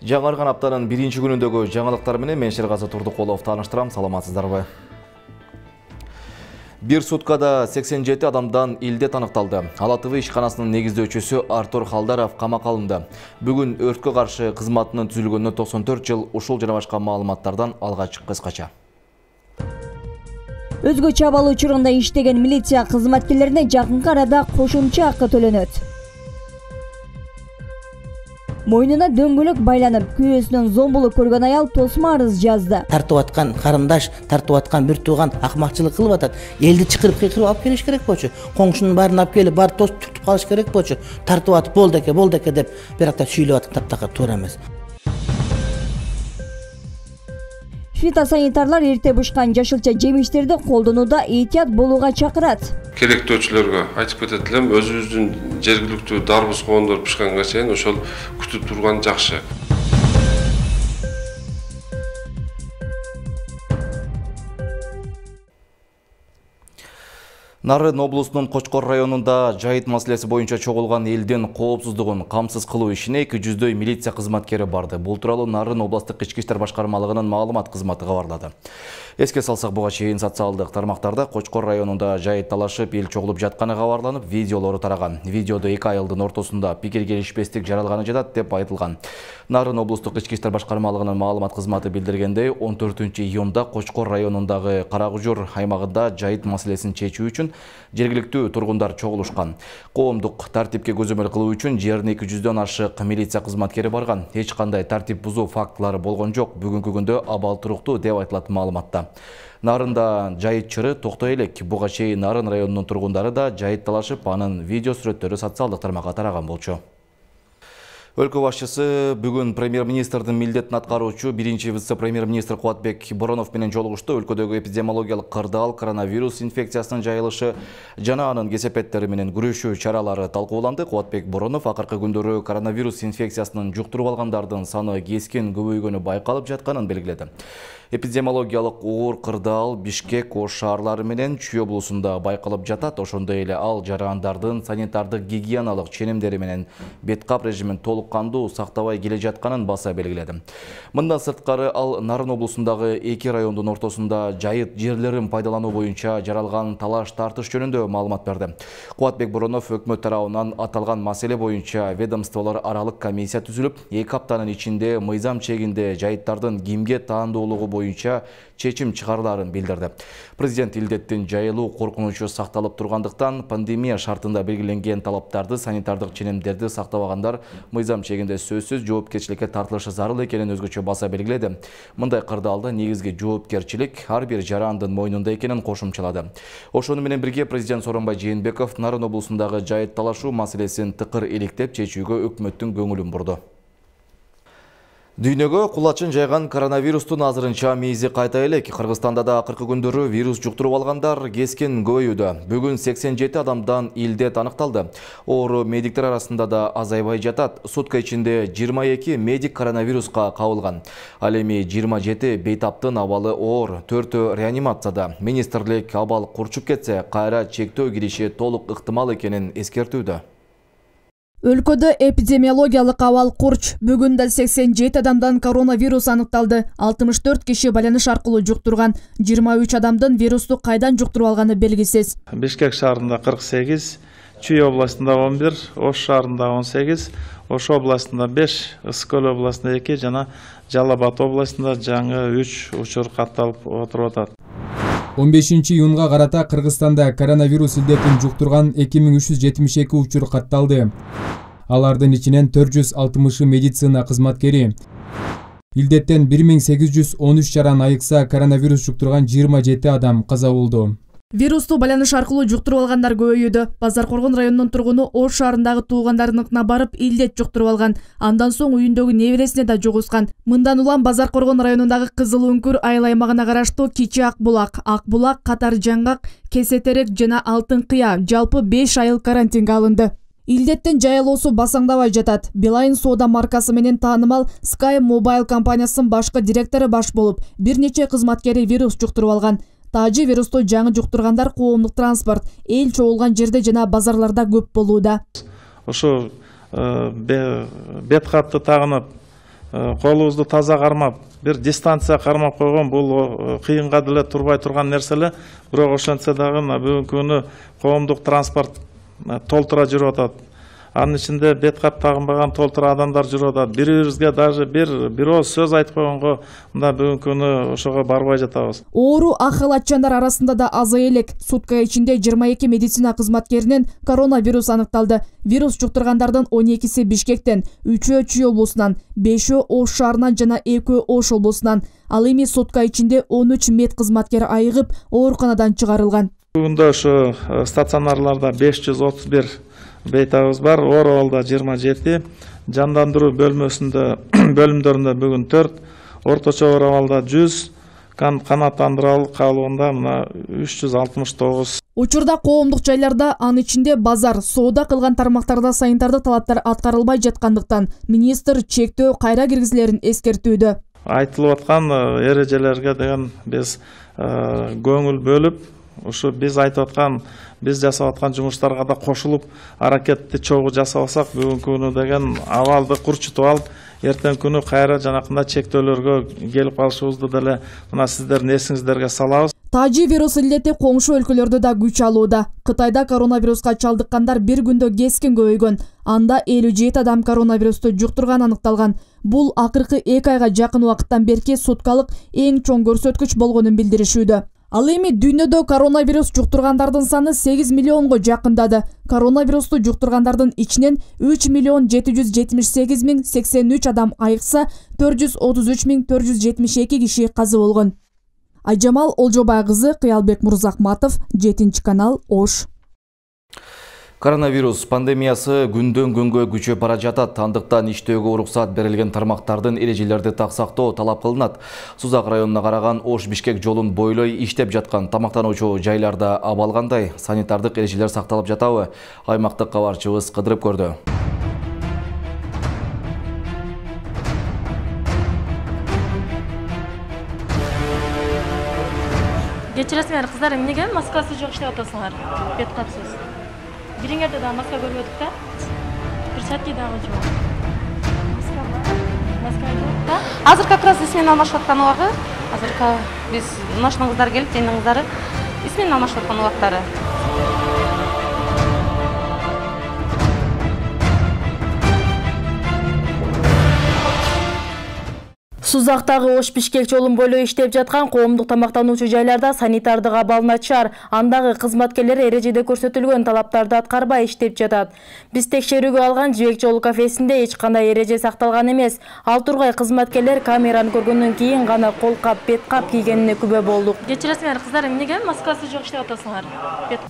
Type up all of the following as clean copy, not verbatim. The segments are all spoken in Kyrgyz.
Жаңарган аптанын биринчи күнүндөгү жаңылыктар менен мен Шергазы Турдукулов тааныштырам. Саламатсыздарбы? Бир суткада 87 адамдан илдет аныкталды. Ала ТВ ишканасынын негиздөөчүсү Артур Халдаров камакка алынды. Бүгүн өрткө каршы кызматынын түзүлгөнүнө 94 жыл. Ушул жана башка маалыматтардан алгач кыскача. Өзгөчө абал учурунда иштеген милиция кызматкерлерине жакынкы арада кошумча акы төлөнөт. Мойнуна дөңгөлөк байланып, күйөөсүнөн зомбулук көргөн аял тосма арыз жазды. Тартып аткан карындаш, тартып аткан бир тууган акмакчылык кылып атат. Элди чакырып кыйкырып алып келиш керек болчу. Коңшунун баарын алып келип, бар тосуп түртүп калыш керек болчу. Тартып атып болду эке деп биракта сүйлөп атып таптакыр туура эмес. Фитосанитарлар эрте бушкан жашылча жемиштерди колдонууда этият болууга чакырат. Керектөөчүлөргө айтып кетет элем, өзүбүздүн жергиликтүү дарбыз коондор бышканга чейин ошол күтүп турган жакшы. Нарын облусунун Кочкор районунда жайыт маселеси боюнча чогулган элдин коопсуздугун камсыз кылуу ишине 200 милиция кызматкери барды. Бул тууралуу Нарын областык ички иштер башкармалыгынын маалымат кызматы кабарлады. Эске салсак, буга чейин социалдык тармактарда Кочкор районунда жайыт талашып, эл чогулуп жатканы кабарланып, видеолору тараган. Видеодо 2 айылдын ортосунда пикир келишпестик жаралганы жатат деп айтылган. Нарын облустук ички иштер башкармалыгынын маалымат кызматы билдиргендей, 14-июнда Кочкор районундагы Карагужур аймагында жайыт маселесин чечүү үчүн жергиликтүү тургундар чогулушкан. Коомдук тартипке көзөмөл кылуу үчүн жерине 200дөн ашык милиция кызматкери барган. Эч кандай тартип бузуу фактылары болгон жок. Бүгүнкү күндө абал туруктуу деп айтылат маалыматта. Нарында жайыт чыры токтой элек. Буга чейин Нарын районунун тургундары да жайыт талашып, анын видео сүрөттөрү социалдык тармакка тараган болчу. Өлкө башчысы бүгүн премьер-министрдин милдетин аткаруучу биринчи вице-премьер-министр Кубатбек Боронов менен жолугушту. Өлкөдөгү эпидемиологиялык кырдаал, коронавирус инфекциясынын жайылышы жана анын кесепеттери менен күрөшүү чаралары талкууланды. Кубатбек Боронов акыркы күндөрү коронавирус инфекциясынын жуктуруп алгандардын саны кескен көбөйгөнү байкалып жатканын белгиледи. Эпидемиологиялык оор кырдаал Бишкек, Ош шаарлары менен Чүй облусунда байкалып жатат. Ошондой эле ал жарандардын санитардык гигиеналык ченемдери менен бет кап режимин толук кандуу сактабай келе жатканын баса белгиледи. Мындан сырткары ал Нарын облусундагы 2 райондун ортосунда жайыт жерлерин пайдалануу боюнча жаралган талаш тартыш жөнүндө маалымат берди. Кубатбек Боронов өкмөт тарабынан аталган маселе боюнча ведомстволор аралык комиссия түзүлүп, 2 аптанын ичинде мыйзам чегинде жайыттардын кимге таандуулугу боюнча чечим чыгарыларын билдирди. Президент илдеттин жайылуу коркунучу сакталып тургандыктан пандемия шартында белгиленген талаптарды, санитардык ченемдерди сактабагандар мыйзам чегинде сөзсүз жоопкерчиликке тартылышы зарыл экенин өзгөчө баса белгиледи. Мындай кырдаалда негизги жоопкерчилик ар бир жарандын мойнунда экенин кошумчалады. Ошону менен бирге президент Сооронбай Жээнбеков Нарын облусундагы жайыт талашуу маселесин тыкыр иликтеп чечүүгө өкмөттүн көңүлүн бурду. Дүйнөгө кулачын жайган коронавирустун азырынча мейизи кайта элек. Кыргызстанда да акыркы күндөрү вирус жуктуруп алгандар кескен көбөйүүдө. Бүгүн 87 адамдан илдет аныкталды. Оору медиктер арасында да азайбай жатат. Сутка ичинде 22 медик коронавируска кабылган. Ал эми 27 бейтаптын абалы оор, 4 реанимацияда. Министрлик абал курчуп кетсе, кайра чектөө кириши толук ыктымал экенин эскертүүдө. Өлкөдө эпидемиологиялык абал курч. Бүгүн да 87 адамдан коронавирус аныкталды. 64 киши байланыш аркылуу жуктурган. 23 адамдын вирусту кайдан жуктуруп алганы белгисиз. Бишкек шаарында 48, Чүй областында 11, Ош шаарында 18, Ош областында 5, Ысык-Көл областында 2 жана Жалал Абад областында жаңы 3 учур катталып отуруп атат. 15-июнга карата Кыргызстанда коронавирус илдетин жуктурган 2372 учур катталды. Алардын ичинен 460 медицина кызматкери. Илдеттен 1813 жаран айыкса, коронавирус жуктурган 27 адам каза болду. Вирусту байланыш аркылуу жуктуруп алгандар көбөйүүдө. Базаркоргон районунун тургуну Ош шаарындагы туугандарыныкына барып илдет жуктуруп алган. Андан соң үйүндөгү небересине да жугузган. Мындан улам Базаркоргон районундагы Кызыл Үңкүр айыл аймагына караштуу Кичи Акбулак, Катар Жаңгак, Кесетерек жана Алтын Кыя жалпы 5 айыл карантинге алынды. Илдеттин жайылуусу басаңдабай жатат. Билайн соода маркасы менен таанымал Sky Mobile компаниясынын башкы директору баш болуп, бир нече кызматкери вирус жуктуруп алган. Тажы вирусту жаңы жуктургандар коомдук транспорт, эл чогулган жерде жана базарларда көп болууда. Ошо бет капты тагынып колубузду таза кармап, бир дистанция кармап койгон бул кыйынга деле турбай турган нерселер. Бирок ошентсе дагы бүгүнкү күнү коомдук транспорт толтура жүрүп атат. Анын ичинде бет кап тагынбаган толтура адамдар жүрүп атат. Бири-бирибизге даже бир ооз сөз айтып койгонго мында бүгүнкү күнү ошого барбай жатабыз. Оору ак халатчандар арасында да азая элек. Сутка ичинде 22 медицина кызматкеринен коронавирус аныкталды. Вирус жуктургандардын 12си Бишкектен, 3-өө Чүй облусунан, 5-өө Ош шаарынан жана 2-өө Ош облусунан. Ал эми сутка ичинде 13 мед кызматкер айыгып, ооруканадан чыгарылган. Бүгүндө ошо стационарларда 531 бейтабыз бар, Ооралда 27, жандандыруу бөлүмдөрүндө бүгүн 4, орточо Ооралда 100, канааттандыруу калыбында мына 369. Учурда коомдук жайларда, анын ичинде базар, соода кылган тармактарда санитардык талаптар аткарылбай жаткандыктан министр чектөө кайра киргизилерин эскертүүдө. Айтылып аткан эрежелерге деген биз көңүл бөлүп, ушу биз айтып аткан, биз жасап аткан жумуштарга да кошулуп, аракетти чогуу жасабасак, бүгүнкү күнү деген абалды курчутуп алып, эртең күнү кайра жанакындай чектөөлөргө келип калышыбызды деле мына сиздердин эсиңиздерге салабыз. Тажи вирус илдети коңшу өлкөлөрдө да күч алууда. Кытайда коронавируска чалдыккандар бир күндө кескин көбөйгөн. Анда 57 адам коронавирусту жуктурган аныкталган. Бул акыркы 2 айга жакын убакыттан берки суткалык эң чоң көрсөткүч болгонун билдиришүүдө. Ал эми дүйнөдө коронавирус жуктургандардын саны 8 миллионго жакындады. Коронавирусту жуктургандардын ичинен 3.778.083 адам айыкса, 433.472 киши каза болгон. Айжамал Олжобай кызы, Кыялбек Мурзахматов, 7 канал, Ош. Коронавирус пандемиясы күндөн күнгө күчөп бара жатат. Андыктан иштөөгө уруксат берилген тармактардын эрежелерди так сактоо талап кылынат. Сузак районуна караган Ош-Бишкек жолун бойлой иштеп жаткан тамактануучу жайларда абал кандай? Санитардык эрежелер сакталып жатабы? Аймактык кабарчыбыз кыдырып көрдү. Кечиресиңер кыздар, эмнеге маскасы жок иштеп атасыңар? Бет капсыз. Бириңерде да маска көрбөдүк да. Перчатки дагы жок. Маска жок да. Азыр как раз исмени алмашып аткан убагы. Азыр биз нашын кыздар келип, жайнын кыздары исмени алмашып аткан убактары. Сузактагы Ош-Бишкек жолун бойлой иштеп жаткан коомдук тамактануучу жайларда санитардык абал начар. Андагы кызматкерлер эрежеде көрсөтүлгөн талаптарды аткарбай иштеп жатат. Биз текшерүүгө алган Жибек жолу кафесинде эч кандай эреже сакталган эмес. Ал тургай кызматкерлер камераны көргөндөн кийин гана кол кап, бет кап кийгенине күбө болдук. Кечиресиңер кыздар, эмнеге маскасы жок иштеп атасыңар?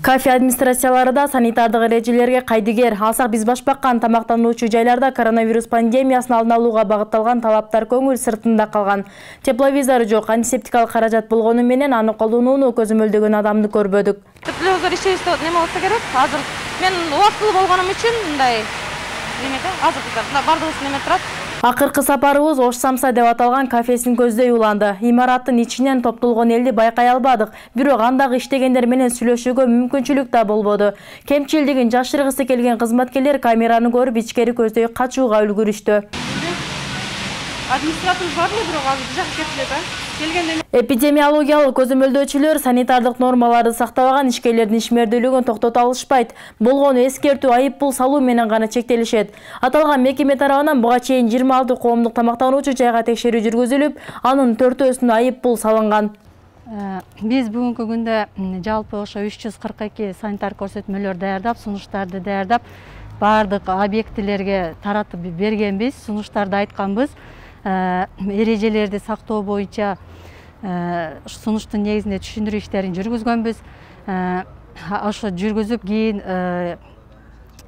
Кафе администрациялары да санитардык эрежелерге кайдыгер. Алсак биз баш баккан тамактануучу жайларда коронавирус пандемиясын алдын алууга багытталган талаптар көңүл сыртында калган. Тепловизор жок, антисептикалык каражат болгону менен аны колдонууну көзөмөлдөгөн адамды көрбөдүк. Тепловизор иштебесе неме болсо керек? Азыр мен убактылуу болгонум үчүн мындай немеде азыр бардыгыбыз неме турат. Акыркы сапарыбыз Ош Самса деп аталган кафесин көздөй уланды. Имараттын ичинен топтолгон элди байкай албадык, бирок андагы иштегендер менен сүйлөшүүгө мүмкүнчүлүк да болбоду. Кемчилдигин жашыргысы келген кызматкерлер камераны көрүп ичкери көздөй качууга үлгүрүштү. Администратор бар эле, бирок азыр жак кетти да. Келгенде эпидемиологиялык көзөмөлдөөчүлөр санитардык нормаларды сактабаган ишкерлердин ишмердүүлүгүн токтото алышпайт. Болгону эскертүү, айып пул салуу менен гана чектелишет. Аталган мекеме тарабынан буга чейин 26 коомдук тамактануучу жайга текшерүү жүргүзүлүп, анын 4-өсүнө айып пул салынган. Биз бүгүнкү күндө жалпы ошо 342 санитар көрсөтмөлөр даярдап, сунуштарды даярдап, бардык объектилерге таратып бергенбиз, сунуштарды айтканбыз. Эрежелерди сактоо боюнча сунуштун негизинде түшүндүрүү иштерин жүргүзгөнбүз. Ошо жүргүзүп кийин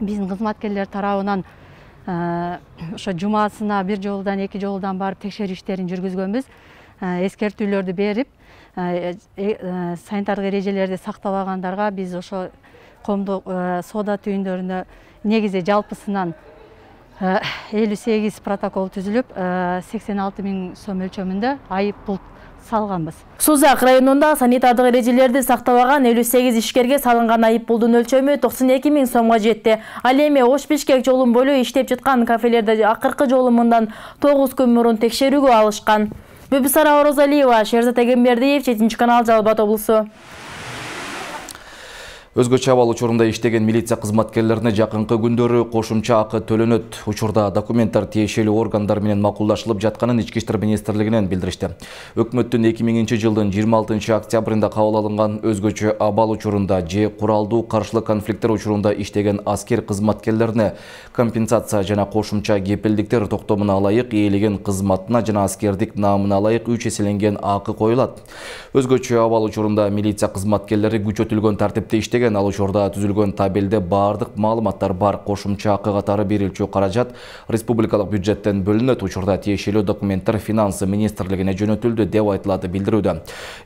биздин кызматкерлер тарабынан ошо жумасына бир жолудан, 2 жолудан барып текшерүү иштерин жүргүзгөнбүз. Эскертүүлөрдү берип, санитардык эрежелерди сактабагандарга биз ошо коомдук соода түйүндөрүнө негизи жалпысынан 58 протокол түзүлүп, 86 000 сом өлчөмүндө айып пул салганбыз. Сузак районунда санитардык эрежелерди сактабаган 58 ишкерге салынган айыппулдун өлчөмү 92 000 сомго жетти. Ал эми Ош-Бишкек жолун бойлой иштеп жаткан кафелерде акыркы жолу мындан 9 күн мурун текшерүүгө алышкан. Бибисара Орозалиева, Шерзат Эгембердиев, 7 канал, Жалал Абад облусу. Өзгөчө абал учурунда иштеген милиция кызматкерлерине жакынкы күндөрү кошумча акы төлөнөт. Учурда документтер тиешелүү органдар менен макулдашылып жатканын Ички иштер министрлигинен билдиришти. Өкмөттүн 2000-жылдын 26 октябрында кабыл алынган өзгөчө абал учурунда же куралдуу каршылык конфликттер учурунда иштеген аскер кызматкерлерине компенсация жана кошумча кепилдиктер токтомуна ылайык ээлеген кызматына жана аскердик наамына ылайык 3 эселенген акы коюлат. Өзгөчө абал учурунда милиция кызматкерлери күчөтүлгөн тартипте иштеген. Ал учурда түзүлгөн табелде бардык маалыматтар бар. Кошумча акы катары берилчү каражат республикалык бюджеттен бөлүнөт. Учурда тиешелүү документтер финансы министрлигине жөнөтүлдү деп айтылат билдирүүдө.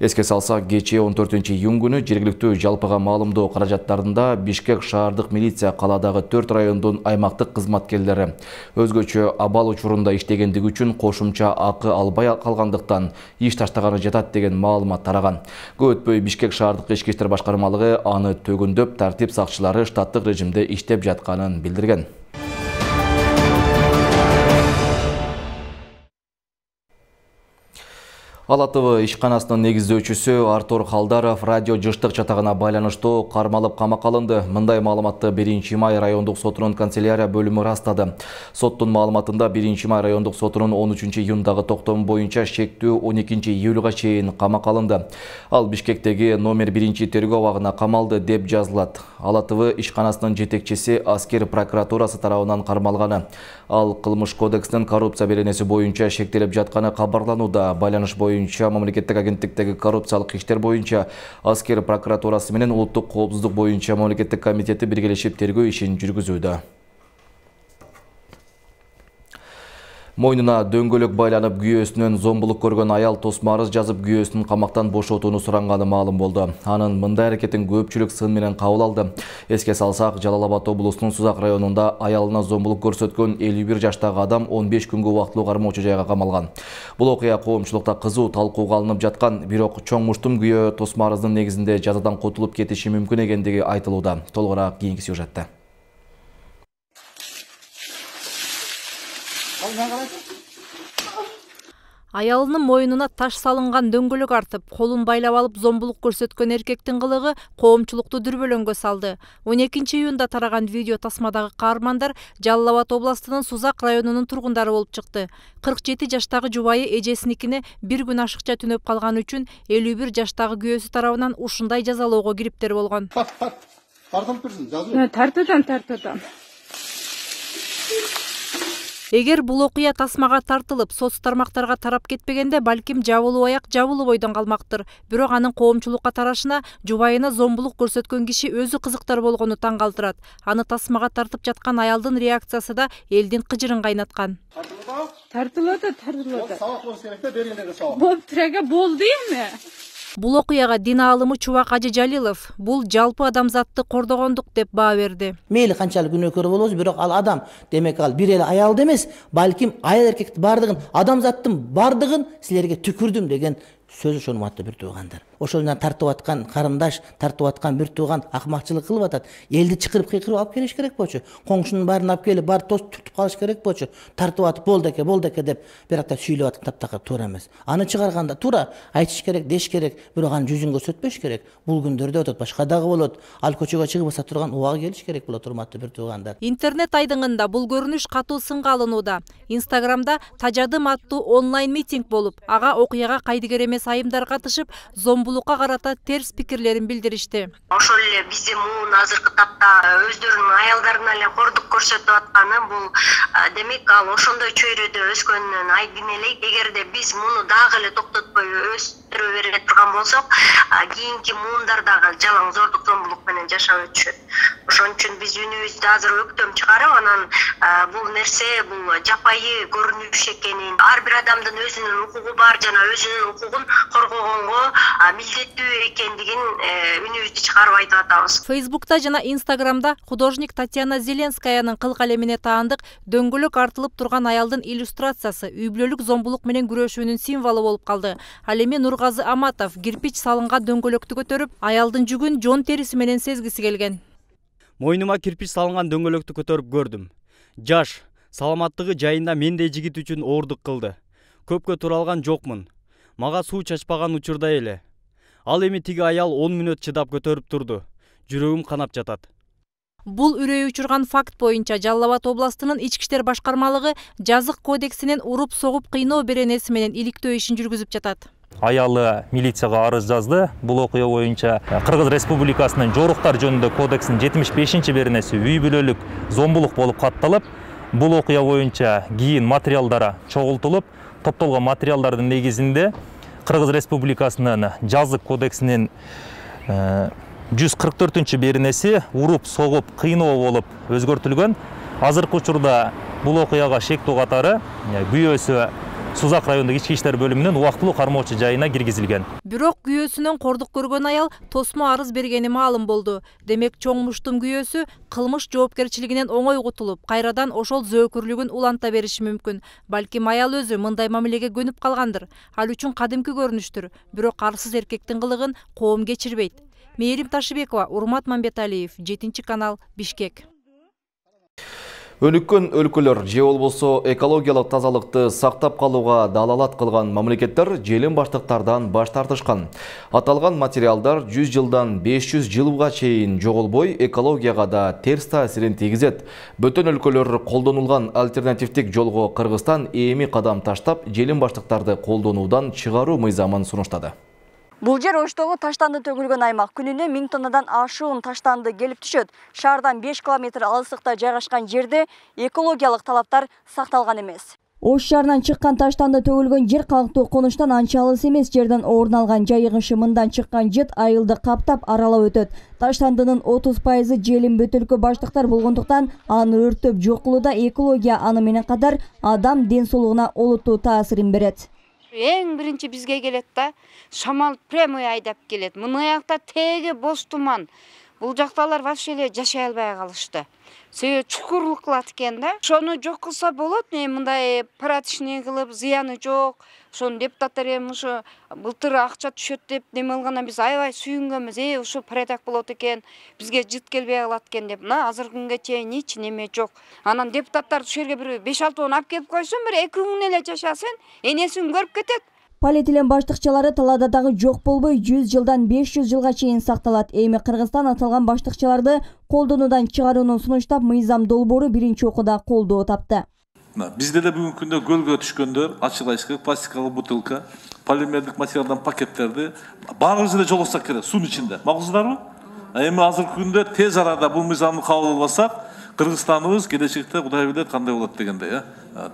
Эске салсак, кечээ 14-июнь күнү жергиликтүү жалпыга маалымдоо каражаттарында Бишкек шаардык милиция каладагы 4 райондун аймактык кызматкерлери өзгөчө абал учурунда иштегендиги үчүн кошумча акы албай калгандыктан иш таштаганы жатат деген маалымат тараган. Көп өтпөй Бишкек шаардык ички иштер башкармалыгы аны төгүндөп тартип сакчылары штаттык режимде иштеп жатканын билдирген. Ала ТВ ишканасынын негиздөөчүсү Артур Халдаров радио жыштык чатагына байланыштуу кармалып камакка алынды. Мындай маалыматты 1-май райондук сотунун канцелярия бөлүмү растады. Соттун маалыматында 1-май райондук сотунун 13-июндагы токтому боюнча шектүү 12-июлга чейин камакка алынды. Ал Бишкектеги номер 1-тергөө абагына камалды деп жазылат. Ала ТВ ишканасынын жетекчиси аскер прокуратурасы тарабынан кармалганы. Ал кылмыш кодексинин коррупция беренеси боюнча шектелип жатканы кабарланууда. Байланыш боюнча мамлекеттик агенттиктеги коррупциялык иштер боюнча аскер прокуратурасы менен улуттук коопсуздук боюнча мамлекеттик комитети биргелешип тергөө ишин жүргүзүүдө. Мойнуна дөңгөлөк байланып күйөөсүнөн зомбулук көргөн аял тосма арыз жазып күйөөсүнүн камактан бошотууну суранганы маалым болду. Анын мындай аракетин көпчүлүк сын менен кабыл алды. Эске салсак, Жалал Абад облусунун Сузак районунда аялына зомбулук көрсөткөн 51 жаштагы адам 15 күнгө убактылуу кармоочу жайга камалган. Бул окуя коомчулукта кызуу талкууга алынып жаткан, бирок чоң муштум күйөө тосма арыздын негизинде жазадан котулуп кетиши мүмкүн экендиги айтылууда. Толугураак кийинки сюжетте. Аялынын мойнуна таш салынган дөңгөлөк артып, колун байлап алып зомбулук көрсөткөн эркектин кылыгы коомчулукту дүрбөлөңгө салды. 12-июнда тараган видео тасмадагы каармандар Жалал Абад областынын Сузак районунун тургундары болуп чыкты. 47 жаштагы жубайы эжесиникине bir күн ашыкча түнөп калганы үчүн 51 жаштагы күйөөсү тарабынан ушундай жазалоого кириптер болгон. Тартуудан. Эгер бул окуя тасмага тартылып, соц тармактарга тарап кетпегенде, балким жабылуу аяк жабылуу бойдон калмактыр. Бирок анын коомчулукка тарашына жубайына зомбулук көрсөткөн киши өзү кызыктар болгону таң калтырат. Аны тасмага тартып жаткан аялдын реакциясы да элдин кыжырын кайнаткан. Тартылады. Болду эми. Бул окуяга дин аалымы Чубак Ажы Жалилов бул жалпы адамзатты кордогондук деп баа берди. Мейли канчалык күнөөкөр болобуз, бирок ал адам, демек ал бир эле аялды эмес, балким аял эркектин бардыгын, адамзаттын бардыгын силерге түкүрдүм деген сөз ошону маттуу бир туугандар. Ошол тартып аткан карындаш, тартып аткан бир тууган акмакчылык кылып атат. Элди чыкырып кыйкырып алып келиш керек болчу. Коңшунун баарын алып келип, бар тоз түртүп калыш керек болчу. Тартып атып болду эке деп биракта сүйлөп аткан таптакыр туура эмес. Аны чыгарганда туура айтыш керек, деш керек, бирок анын жүзүн көрсөтпөш керек. Бул күндөрдө өтөт, башка дагы болот. Ал көчөгө чыгып баса турган убагы келиш керек болот, урматтуу бир туугандар. Интернет айдыңында бул көрүнүш катуу сынга алынууда. Инстаграмда Тажадым аттуу онлайн митинг болуп, ага окуяга кайдыгер эмес айымдар катышып, зомбулукка карата терс пикирлерин билдиришти. Ошол эле биздин муун азыркы тапта өздөрүнүн аялдарына эле кордук көрсөтүп атканы бул демек ал ошондой чөйрөдө өскөнүнөн айдын эле. Эгерде биз муну дагы эле токтотпой өстүрө бере турган болсок, кийинки муундар дагы жалаң зордук зомбулук менен жашап өтүшөт. Ошон үчүн биз үнүбүздү азыр өктөм чыгарып, анан бул нерсе бул жапайы көрүнүш экенин, ар бир адамдын өзүнүн укугу бар жана өзүнүн укугун коргогонго милдеттүү экендигин үнүбүздү чыгарып айтып атабыз. Фейсбукта жана Инстаграмда художник Татьяна Зеленскаяның кыл калемине таандык дөңгөлөк артылып турган аялдын иллюстрациясы үй бүлөлүк зомбулук менен күрөшүүнүн символу болуп калды. Ал эми Нургазы Аматов кирпич салынган дөңгөлөктү көтөрүп, аялдын жүгүн жон териси менен сезгиси келген. Мойнума кирпич салынган дөңгөлөктү көтөрүп көрдүм. Жаш, саламаттыгы жайында мендей жигит үчүн оордук кылды. Көпкө тура алган жокмун. Мага суу чачпаган учурда эле. Ал эми тиги аял 10 мүнөт чыдап көтөрүп турду. Жүрөгүм канап жатат. Бул үрөй учурган факт боюнча Жалал Абад областынын ички иштер башкармалыгы жазык кодексинин уруп согуп кыйноо беренеси менен иликтөө ишин жүргүзүп жатат. Аялы милицияга арыз жазды. Бул окуя боюнча Кыргыз Республикасынын жоруктар жөнүндө кодексинин 75 беренеси үй бүлөлүк зомбулук болуп катталып, бул окуя боюнча кийин материалдары чогултулуп, топтолгон материалдардын негизинде Кыргыз Республикасынын жазык кодексинин 144 беренеси уруп согуп кыйноо болуп өзгөртүлгөн. Азыркы учурда бул окуяга шектүү катары күйөөсү Сузак райондук ички иштер бөлүмүнүн убактылуу кармоочу жайына киргизилген. Бирок күйөөсүнөн кордук көргөн аял тосмо арыз бергени маалым болду. Демек чоң муштун күйөөсү кылмыш жоопкерчилигинен оңой кутулуп, кайрадан ошол зөөкүрлүгүн уланта бериши мүмкүн. Балким аял өзү мындай мамилеге көнүп калгандыр. Ал үчүн кадимки көрүнүштүр. Бирок арсыз эркектин кылыгын коом кечирбейт. Мээрим Ташыбекова, Урмат Мамбеталиев, 7-канал, Бишкек. Өнүккөн өлкөлөр же болбосо экологиялык тазалыкты сактап калууга далалат кылган мамлекеттер желим баштыктардан баш тартышкан. Аталган материалдар 100 жылдан 500 жылга чейин жоголбой, экологияга да терс таасирин тийгизет. Бөтөн өлкөлөр колдонулган альтернативдик жолго Кыргызстан эми кадам таштап, желим баштыктарды колдонуудан чыгаруу мыйзамын сунуштады. Бул жер Оштогу таштанды төгүлгөн аймак. Күнүнө 1000 тоннадан ашуун таштанды келип түшөт. Шаардан 5 километр алыстыкта жайгашкан жерде экологиялык талаптар сакталган эмес. Ош шаарынан чыккан таштанды төгүлгөн жер калктуу конуштан анча алыс эмес жерден орун алган. Жайыгышы мындан чыккан жет айылды каптап аралап өтөт. Таштандынын 30% желим бөтөлкө баштыктар болгондуктан аны өрттөп жок кылууда экология аны менен катар адам ден соолугуна олуттуу таасирин берет. Эң биринчи бизге келет да, шамал прямой айдап келет. Мына жакта теги бош туман. Бул жакталар вообще эле жашай албай калышты. Себеби чукурлук кылат экен да. Ошону жок кылса болот, мындай порядочный кылып, зыяны жок. Ошону депутаттар эми ушу былтыр акча түшөт деп неме кылгандан биз аябай сүйүнгөнбүз. Ушу порядок болот экен, бизге жыт келбей калат экен деп. Мына азыркы күнгө чейин эч неме жок. Анан депутаттар ушул жерге бир 5-6 алып келип койсун, бир 2 күн эле жашасын, энесин көрүп кетет. Полиэтилен баштыкчалары талаада дагы жок болбой 100 жылдан 500 жылга чейин сакталат. Эми Кыргызстан аталган баштыкчаларды колдонуудан чыгарууну сунуштап, мыйзам долбоору биринчи окууда колдоо тапты. Бизде да бүгүнкү күндө гөлгө түшкөндөр, ачык айшык, пластикалык бутылка, полимердик материалдан пакеттерди баарыбыз эле жолгосок керек суунун ичинде. Макулсуздарбы? Эми азыркы күндө тез арада бул мыйзамды кабыл албасак, Кыргызстаныбыз келечекте Кудай билет кандай болот дегендей.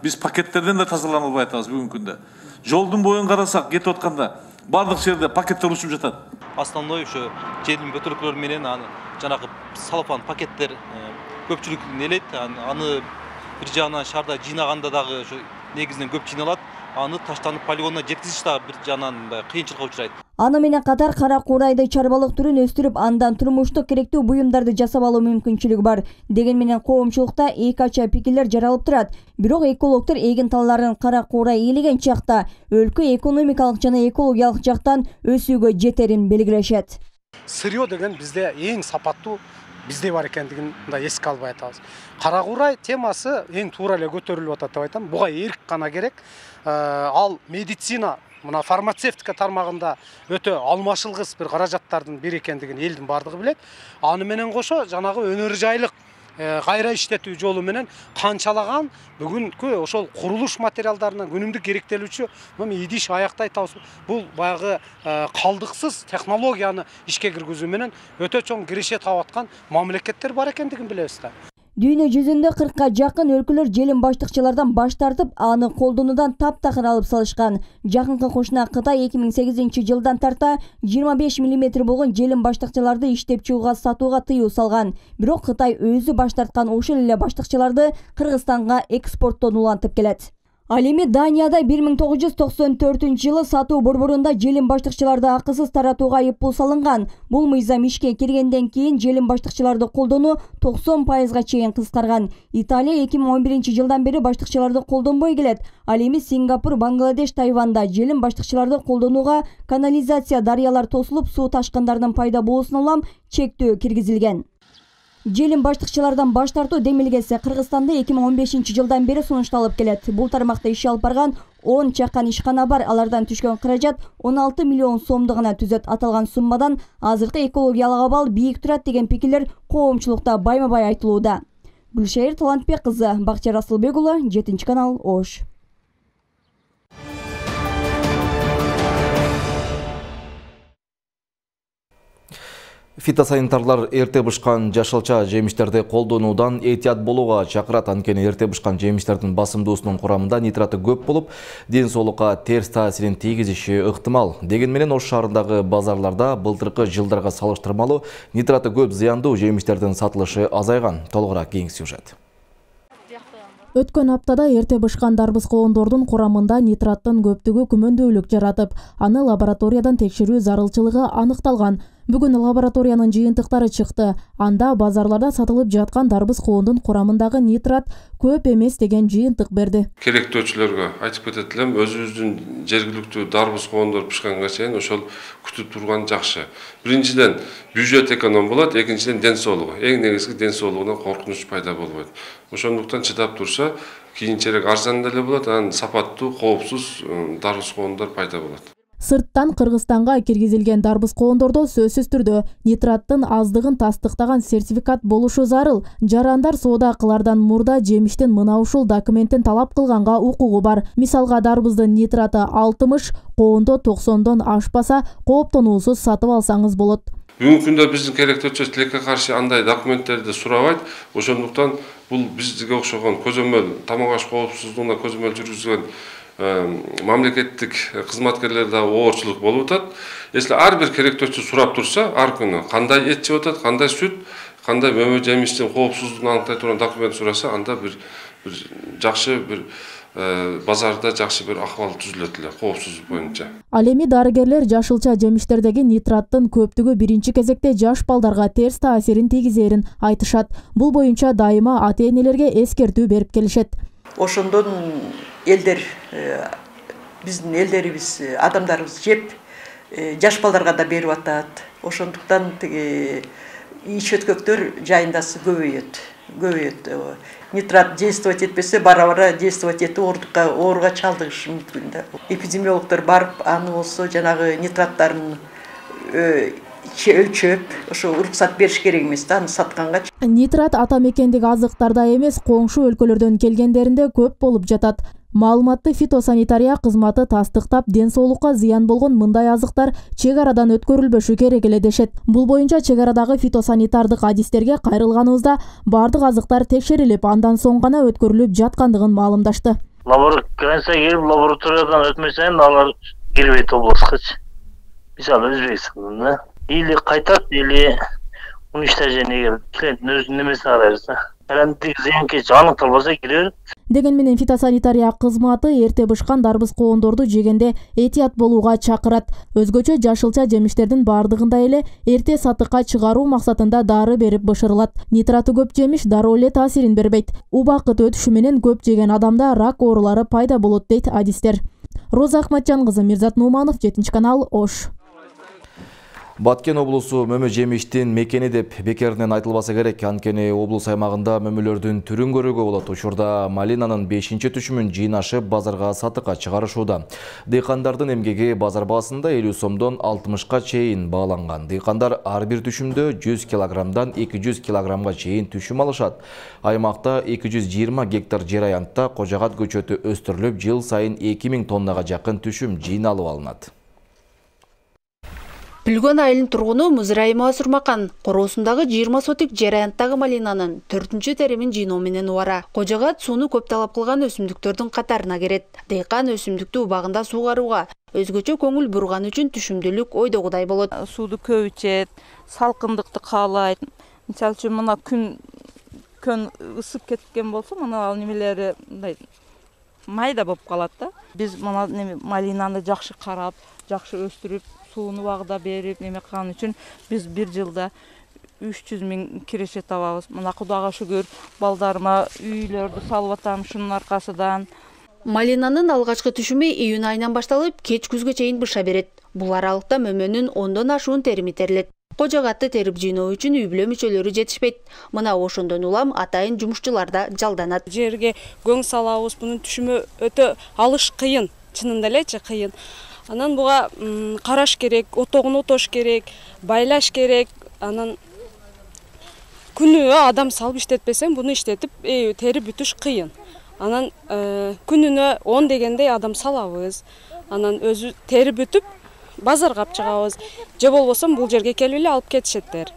Биз пакеттерден да тазалана албай атабыз бүгүнкү күндө. Жолдун боюн карасак, кетип атканда бардык жерде пакеттер учуп жатат. Основной ушу желим бөтөлкөлөр менен жанагы салфан пакеттер көпчүлүк нелейт. Аны бир жагынан шаарда жыйнаганда дагы ушу негизинен көп жыйналат. Аны таштанып полигонуна жеткизиш дагы бир жагынан кыйынчылыкка учурайт. Аны менен катар кара куурайды чарбалык түрүн өстүрүп, андан турмуштук керектүү буюмдарды жасап алуу мүмкүнчүлүгү бар. Деген менен коомчулукта эки ача пикирлер жаралып турат. Бирок экологдор эгин талларын кара куурай ээлеген чакта өлкө экономикалык жана экологиялык жактан өсүүгө жетерин белгилешет. Сырьё деген бизде эң сапаттуу бизде бар экендигин эске албай атабыз. Кара куурай темасы эң туура эле көтөрүлүп атат деп айтам. Буга эрк гана керек. Ал медицина, мына фармацевтика тармагында өтө алмашылгыс бир каражаттардын бири экендигин элдин бардыгы билет. Аны менен кошо жанагы өнөр жайлык кайра иштетүү жолу менен канчалаган бүгүнкү ошол курулуш материалдарына күнүмдүк керектелүүчү идиш аяктай табыз. Бул баягы калдыксыз технологияны ишке киргизүү менен өтө чоң киреше таап аткан мамлекеттер бар экендигин билебиз да. Дүйнө жүзүндө 40-ка жакын өлкөлөр желим баштыкчылардан баш тартып, аны колдонуудан таптакыр алып салышкан. Жакынкы кошуна Кытай 2008-жылдан тарта 25 мм болгон желим баштыкчыларды иштеп чыгууга сатууга тыюу салган. Бирок Кытай өзү баш тарткан ошол эле баштыкчыларды Кыргызстанга экспорттон улантып келет. Ал эми Данияда 1994-жылы сатуу борборунда желим баштыкчыларды акысыз таратууга айыппул салынган. Бул мыйзам ишке киргенден кийин желим баштыкчыларды колдонуу 90%га чейин кыскарган. Италия 2011-жылдан бери баштыкчыларды колдонбой келет. Ал эми Сингапур, Бангладеш, Тайванда желим баштыкчыларды колдонууга канализация дарыялар тосулуп, суу ташкындарынын пайда болуусуна улам чектөө киргизилген. Желим баштыкчылардан баш тартуу демилгеси Кыргызстанда 2015-жылдан бери сунушталып келет. Бул тармакта иш алып барган 10 чакан ишкана бар. Алардан түшкөн каражат 16 миллион сомду гана түзөт. Аталган суммадан азыркы экологиялык абал бийик турат деген пикирлер коомчулукта байма-бай айтылууда. Гүлшайыр Талантбек кызы, Бакча Расылбек уулу, 7-канал, Ош. Фитосанитарлар эрте бышкан жашылча жемиштерди колдонуудан этият болууга чакырат. Анткени эрте бышкан жемиштердин басымдуусунун курамында нитраты көп болуп, ден соолукка терс таасирин тийгизиши ыктымал. Деген менен Ош шаарындагы базарларда былтыркы жылдарга салыштырмалуу нитраты көп зыяндуу жемиштердин сатылышы азайган. Толугураак кийинки сюжет. Өткөн аптада эрте бышкан дарбыз коондордун курамында нитраттын көптүгү күмөндөөлүк жаратып, аны лабораториядан текшерүү зарылчылыгы аныкталган. Бүгүн лабораториянын жыйынтыктары чыкты. Анда базарларда сатылып жаткан дарбыз коондун курамындагы нитрат көп эмес деген жыйынтык берди. Керектөөчүлөргө айтып кетет элем, өзүбүздүн жергиликтүү дарбыз коондор пышканга чейин ошол күтүп турган жакшы. Биринчиден бюджет эконом болот, экинчиден ден соолугу. Эң негизги ден соолугуна коркунуч пайда болбойт. Ошондуктан чыдап турса, кийинчерээк арзан деле болот, анан сапаттуу, коопсуз дарбыз коондор пайда болот. Сырттан Кыргызстанга киргизилген дарбыз коондордо сөзсүз түрдө нитраттын аздыгын тастыктаган сертификат болушу зарыл. Жарандар соода кылардан мурда жемиштин мына ушул документтин талап кылганга укугу бар. Мисалга дарбыздын нитраты 60, коондо 90дон ашпаса, кооптонуусуз сатып алсаңыз болот. Бүгүнкү күндө биздин керектөөчү тилекке каршы андай документтерди сурабайт. Ошондуктан бул бизге окшогон көзөмөл тамак аш коопсуздугуна көзөмөл жүргүзгөн мамлекеттик кызматкерлерде оорчулук болуп атат. Если ар бир керектөөчү сурап турса, ар күнү кандай эт жеп атат, кандай сүт, кандай мөмө жемиштин коопсуздугун аныктай турган документ сураса, анда бир жакшы бир базарда жакшы бир акыбал түзүлөт эле коопсуздук боюнча. Ал эми дарыгерлер жашылча жемиштердеги нитраттын көптүгү биринчи кезекте жаш балдарга терс таасирин тийгизерин айтышат. Бул боюнча дайыма ата-энелерге эскертүү берип келишет. Ошондон элдер, биздин элдерибиз, адамдарыбыз жеп, жаш балдарга да берип атат. Ошондуктан ич өткөктөр жайындасы көбөйөт. Нитрат действовать этпесе, бара-бара действовать этип ооруга чалдыгышы мүмкүн да. Эпидемиологдор барып, аны болсо жанагы нитраттарын өлчөп, ошо уруксат бериш керек эмес да, аны сатканга. Нитрат ата мекендик азыктарда эмес, коңшу өлкөлөрдөн келгендеринде көп болуп жатат. Маалыматты фитосанитария кызматы тастыктап, ден соолукка зыян болгон мындай азыктар чек арадан өткөрүлбөшү керек эле дешет. Бул боюнча чек арадагы фитосанитардык адистерге кайрылганыбызда бардык азыктар текшерилип, андан соң гана өткөрүлүп жаткандыгын маалымдашты. Границага кирип, лабораториядан өтмөсөң, алар кирбейт областка. Мисалы Өзбекстанда или кайтат, или уничтожение клиенттин өзүнүн немесине карайбыз да. Карантин зыянкечи аныкталбаса кире. Деген менен фитосанитария кызматы эрте бышкан дарбыз коондорду жегенде этият болууга чакырат. Өзгөчө жашылча жемиштердин бардыгында эле эрте сатыкка чыгаруу максатында дары берип бышырылат. Нитраты көп жемиш дароо эле таасирин бербейт. Убакыт өтүшү менен көп жеген адамда рак оорулары пайда болот дейт адистер. Роза Ахматжан кызы, Мирзат Нуманов, 7-канал, Ош. Баткен облусу мөмө жемиштин мекени деп бекеринен айтылбаса керек. Анткени облус аймагында мөмөлөрдүн түрүн көрүүгө болот. Учурда малинанын 5-түшүмүн жыйнашып базарга сатыкка чыгарышууда. Дыйкандардын эмгеги базар баасында 50 сомдон 60ка чейин бааланган. Дыйкандар ар бир түшүмдө 100 килограммдан 200 килограммга чейин түшүм алышат. Аймакта 220 гектар жер аянтта кожогат көчөтү өстүрүлүп, жыл сайын 2000 тоннага жакын түшүм жыйналып алынат. Пүлгөн айылынын тургуну Музраимова Сурмакан короосундагы 20 сотик жер аянттагы малинанын 4-чү теримин жыйноо менен убара. Кожогат сууну көп талап кылган өсүмдүктөрдүн катарына кирет. Дыйкан өсүмдүктү убагында суугарууга өзгөчө көңүл бурган үчүн түшүмдүүлүк ойдогудай болот. Сууду көп ичет, салкындыкты каалайт. Мисалы үчүн мына күн ысып кеткен болсо, мына ал немелери мындай майда болуп калат да. Биз мына малинаны жакшы карап, жакшы өстүрүп, сууну убагында берип, неме кылган үчүн биз бир жылда 300 000 киреше табабыз. Мына Кудайга шүгүр, балдарыма үйлөрдү салып атам шунун аркасынан. Малинанын алгачкы түшүмү июнь айынан башталып, кеч күзгө чейин быша берет. Бул аралыкта мөмөнүн 10дон ашуун терими терилет. Кожогатты терип жыйноо үчүн үй бүлө мүчөлөрү жетишпейт. Мына ошондон улам атайын жумушчулар да жалданат. Жерге көң салабыз, бунун түшүмү өтө алыш кыйын, чынында элечи кыйын. Анан буга караш керек, отогун отош керек, байлаш керек. Анан күнүгө адам салып иштетпесең, буну иштетип терип бүтүш кыйын. Анан күнүнө 10 дегендей адам салабыз. Анан өзү терип бүтүп базарга алып чыгабыз. Же болбосо бул жерге келип эле алып кетишеттер.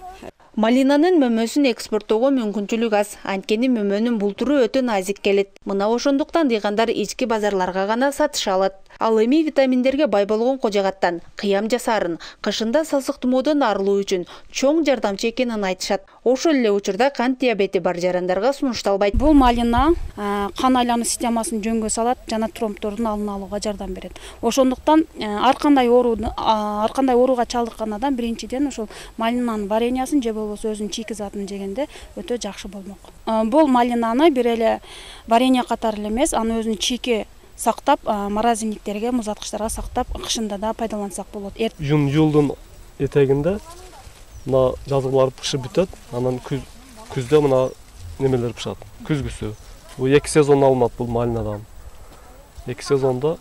Малинанын мөмөсүн экспорттоого мүмкүнчүлүк аз. Анткени мөмөнүн бул туру өтө назик келет. Мына ошондуктан дыйкандар ички базарларга гана сатыша алат. Ал эми витаминдерге бай болгон кожогаттан кыям жасаарын, кышында сасык тумоодон арылуу үчүн чоң жардамчы экенин айтышат. Ошол эле учурда кант диабети бар жарандарга сунушталбайт. Бул малина кан айлануу системасын жөнгө салат жана тромбтордун алдын алууга жардам берет. Ошондуктан ар кандай ооруга чалдыккан адам биринчиден ошол малинанын вареньясын же болбосо өзүнүн чийки затын жегенде өтө жакшы болмок. Бул малинаны бир эле варенье катары эле эмес, аны өзүнүн чийки сактап, морозильниктерге, музаткычтарга сактап, кышында да пайдалансак болот. Жулдун этегинде мына жазгылар пышып бүтөт, анан күздө мына немелер пышат. Күзгүсү. Бул 2 сезон алынат бул малинадан. 2 сезондо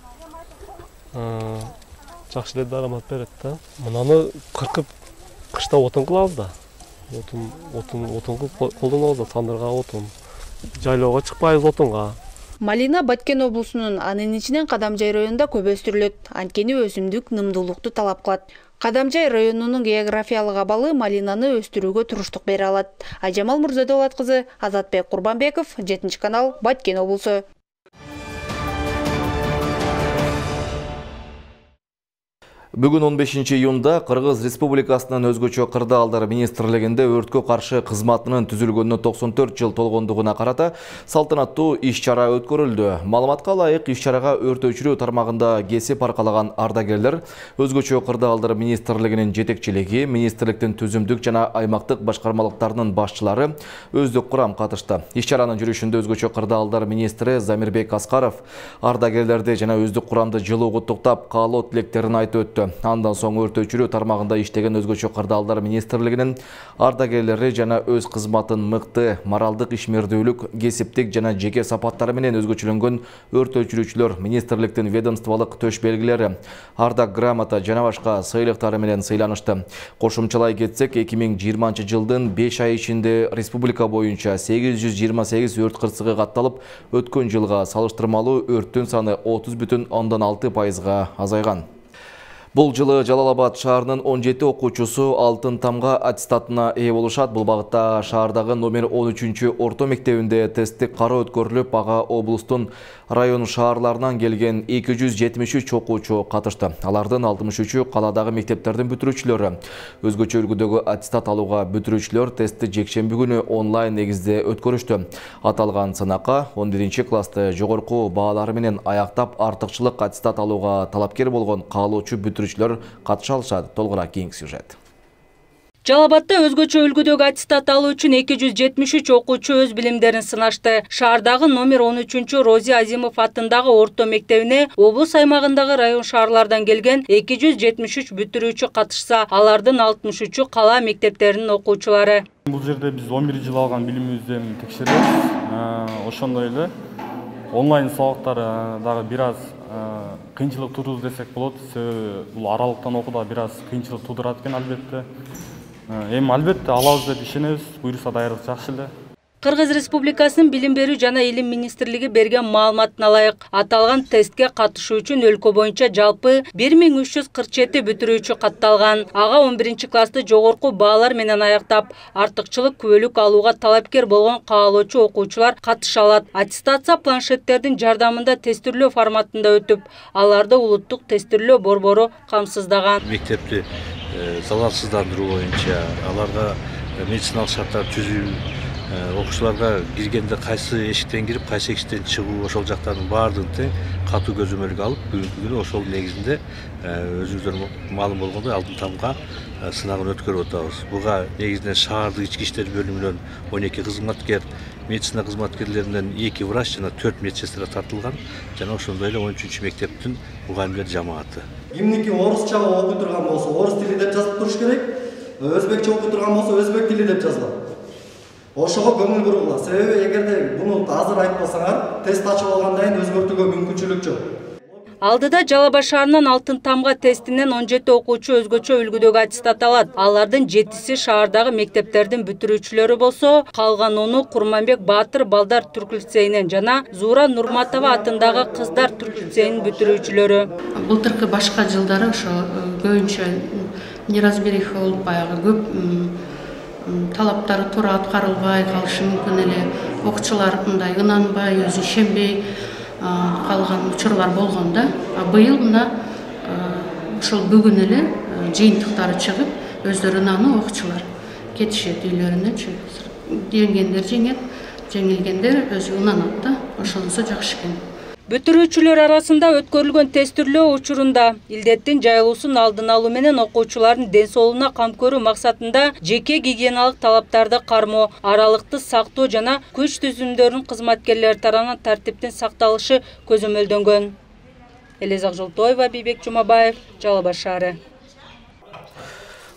жакшы эле дарамат берет да. Мынаны кыркып кышта отун кылабыз да. Отун колдонобуз да, тандырга отун. Жайлоого чыкпайбыз отунга. Малина Баткен облусунун, анын ичинен Кадамжай районунда көп өстүрүлөт. Анткени өсүмдүк нымдуулукту талап кылат. Кадамжай районунун географиялык абалы малинаны өстүрүүгө туруштук бере алат. Айжамал Мурзадолат кызы, Азатбек Курбанбеков, 7-канал, Баткен облусу. Бүгүн 15 июнда Кыргыз Республикасынын өзгөчө кырдаалдар министрлигинде өрткө каршы кызматынын түзүлгөнүнө 94 жыл толгондугуна карата салтанаттуу иш-чара өткөрүлдү. Маалыматка ылайык иш-чарага өрт өчүрүү тармагында кесип аркалаган ардагерлер, өзгөчө кырдаалдар министрлигинин жетекчилиги, министрликтин түзүмдүк жана аймактык башкармалыктарынын башчылары өздүк курам катышты. Иш-чаранын жүрүшүндө өзгөчө кырдаалдар министри Замирбек Аскаров ардагерлерди жана өздүк курамды жылуу куттуктап, каалоо тилектерин айтып өттү. Андан соң өрт өчүрүү тармагында иштеген өзгөчө кырдаалдар министрлигинин ардагерлери жана өз кызматын мыкты, моралдык ишмердүүлүк, кесиптик жана жеке сапаттары менен өзгөчөлөнгөн өрт өчүрүүчүлөр министрликтин ведомстволук төш белгилери, ардак грамота жана башка сыйлыктары менен сыйланышты. Кошумчалай кетсек, 2020 жылдын 5 ай ичинде республика боюнча 828 өрт кырсыгы катталып, өткөн жылга салыштырмалуу өрттүн саны 30,6% азайган. Бул жылы Жалал-Абад шаарынын 17 окуучусу алтын тамга аттестатына ээ болушат. Бул багытта шаардагы номер 13 орто мектебинде тесттик кароо өткөрүлүп, ага облустун район шаарларынан келген 273 окуучу катышты. Алардын 63-ü каладагы мектептердин бүтүрүүчүлөрү. Өзгөчө үлгүдөгү аттестат алууга бүтүрүүчүлөр тестти жекшемби күнү онлайн негизде өткөрүштү. Аталган сынакка 11-классты жогорку баалары менен аяктап артыкчылык аттестат алууга талапкер болгон каалоочу бүтүрүүчүлөр катыша алышат. Толугураак кийинки сюжет. Жалал-Абадта өзгөчө үлгүдөгү аттестат алуу үчүн 273 окуучу өз билимдерин сынашты. Шаардагы номер 13 Рози Азимов аттындагы орто мектебине облус аймагындагы район шаарлардан келген 273 бүтүрүүчү катышса, алардын 63-ü кала мектептеринин окуучулары. Бул жерде биз 11 жыл алган билимибизден текшеребиз. Ошондой эле онлайн сабактар дагы бир аз кыйынчылык туудурду десек болот. Себеби бул аралыктан окууда бир аз кыйынчылык туудурат экен албетте. Эми албетте алабыз деп ишенебиз. Буюрса даярдык жакшы эле. Кыргыз Республикасынын Билим берүү жана Илим министрлиги берген маалыматына ылайык, аталган тестке катышуу үчүн өлкө боюнча жалпы 1347 бүтүрүүчү катталган. Ага 11 классты жогорку баалар менен аяктап, артыкчылык күбөлүк алууга талапкер болгон каалоочу окуучулар катыша алат. Аттестация планшеттердин жардамында тестирлөө форматында өтүп, аларды улуттук тестирлөө борбору камсыздаган. Мектепти залалсыздандыруу боюнча аларга медициналык шарттар түзүү, окуучуларга киргенде кайсы эшиктен кирип, кайсы эшиктен чыгуу, ошол жактардын баардыгын тең катуу көзөмөлгө алып, бүгүнкү күнү ошол негизинде өзүңүздөр маалым болгондой алдын тамга сынагын өткөрүп атабыз. Буга негизинен шаардык ички иштер бөлүмүнөн 12 кызматкер, медицина кызматкерлеринен 2 врач жана 4 медсестра тартылган, жана ошондой эле 13 мектептин мугалимдер жамааты. Кимники орусча окуй турган болсо, орус тили деп жазып туруш керек. Өзбекче окуй турган болсо, өзбек тили деп жазылат. Ошого көңүл бургула. Себеби эгерде буну азыр айтпасаңар, тест ачып алгандан кийин өзгөртүүгө мүмкүнчүлүк жок. Алдыда Жалал Абад шаарынын Алтын тамга тестинен 17 окуучу өзгөчө үлгүдөгү аттестат алат. Алардын 7-си шаардагы мектептердин бүтүрүүчүлөрү болсо, калган 10-у Курманбек Баатыр балдар түрк лицейинен жана Зуура Нурматова атындагы кыздар түрк лицейинин бүтүрүүчүлөрү. Былтыркы башка жылдары ошо көбүнчө неразбериха болуп баягы көп талаптары туура аткарылбай калышы мүмкүн эле. Окуучулар мындай ынанбай, өзү ишенбей калган учурлар болгон да. Быйыл мына ошол бүгүн эле жыйынтыктары чыгып, өздөрү ынануу окуучулар кетишет үйлөрүнөчү. Жеңгендер жеңет, жеңилгендер өзү ынанат да. Ошонусу жакшы экен. Бүтүрүүчүлөр арасында өткөрүлгөн тестирлөө учурунда илдеттин жайылуусун алдын алуу менен окуучулардын ден соолугуна кам көрүү максатында жеке гигиеналык талаптарды кармоо, аралыкты сактоо жана күч түзүмдөрүнүн кызматкерлери тарабынан тартиптин сакталышы көзөмөлдөнгөн. Элизак Жолтоева, Бийбек Жумабаев, Жалал Абад шаары.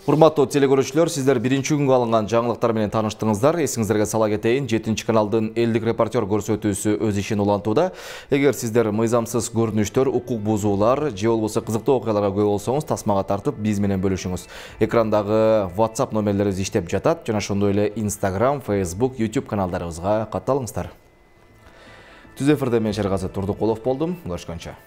Урматтуу телекөрүүчүлөр, сиздер биринчи күнгө алынган жаңылыктар менен тааныштыңыздар. Эсиңиздерге сала кетейин, 7 каналдын элдик репортер көрсөтүүсү өз ишин улантууда. Эгер сиздер мыйзамсыз көрүнүштөр, укук бузуулар же болбосо кызыктуу окуяларга күбө болсоңуз, тасмага тартып биз менен бөлүшүңүз. Экрандагы WhatsApp номерлерибиз иштеп жатат, жана ошондой эле Instagram, Facebook, YouTube каналдарыбызга катталыңыздар. Түз эфирде мен Шергази Турдукулов болдум. Көрүшкөнчө.